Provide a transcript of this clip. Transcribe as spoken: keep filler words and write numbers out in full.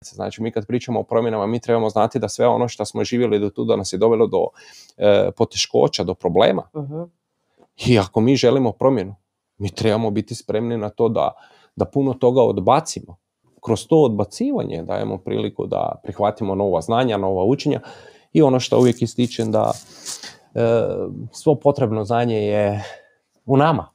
posljedice. Znači, mi kad pričamo o promjenama, mi trebamo znati da sve ono što smo živjeli do tuda nas je dovelo do e, poteškoća, do problema. Uh-huh. I ako mi želimo promjenu, mi trebamo biti spremni na to da, da puno toga odbacimo. Kroz to odbacivanje dajemo priliku da prihvatimo nova znanja, nova učenja i ono što uvijek ističem da e, svo potrebno znanje je u nama.